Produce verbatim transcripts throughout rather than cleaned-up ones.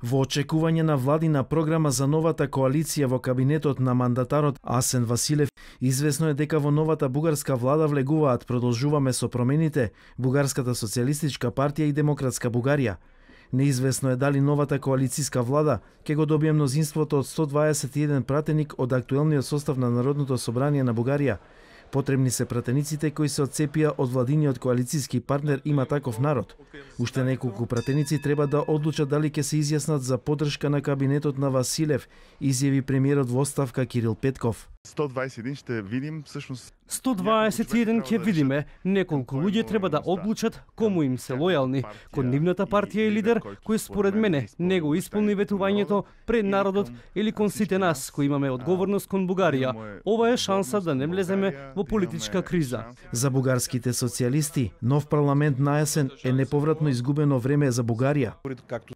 Во очекување на владина програма за новата коалиција во кабинетот на мандатарот Асен Василев, известно е дека во новата бугарска влада влегуваат Продолжуваме со промените, Бугарската социјалистичка партија и Демократска Бугарија. Неизвестно е дали новата коалициска влада ќе го добие мнозинството од сто дваесет и еден пратеник од актуелниот состав на Народното собрание на Бугарија. Потребни се пратениците кои се отцепија од владиниот коалициски партнер Има таков народ. Уште неколку пратеници треба да одлучат дали ќе се изјаснат за поддршка на кабинетот на Василев, изјави премиерот во оставка Кирил Петков. сто дваесет и еден ще видим всушност. сто дваесет и еден ќе видиме. Неколку луѓе треба да одлучат кому им се лојални, кон нивната партија и лидер кој според мене не го исполни ветувањето пред народот или кон сите нас кои имаме одговорност кон Бугарија. Ова е шанса да не влеземе во политичка криза. За бугарските социјалисти, нов парламент на есен е неповратно изгубено време за Бугарија.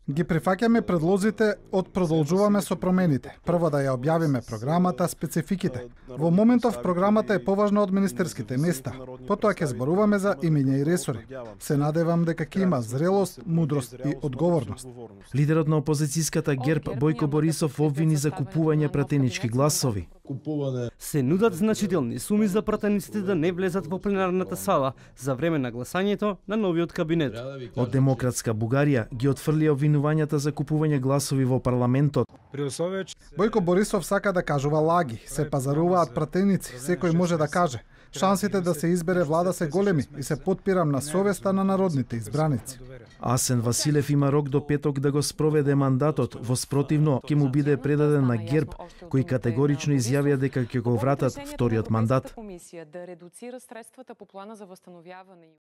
Ги прифаќаме предлозите од Продолжуваме со промените. Прво да ја објавиме програмата, спецификите. Во моментов програмата е поважна од министерските места. Потоа ќе зборуваме за имиња и ресори. Се надевам дека ќе има зрелост, мудрост и одговорност. Лидерот на опозицијската ГЕРБ Бојко Борисов обвини за купување пратенички гласови. Се нудат значителни суми за пратениците да не влезат во пленарната сала за време на гласањето на новиот кабинет. Од Демократска Бугарија ги отфрли обвинувањата за купување гласови во парламентот. Бојко Борисов сака да кажува лаги, се пазаруваат пратеници, секој може да каже. Шансите да се избере влада се големи и се потпирам на совеста на народните избраници. Асен Василев има рок до петок да го спроведе мандатот, во спротивно ќе му биде предаден на ГЕРБ, кои категорично изјавија дека ќе го вратат вториот мандат.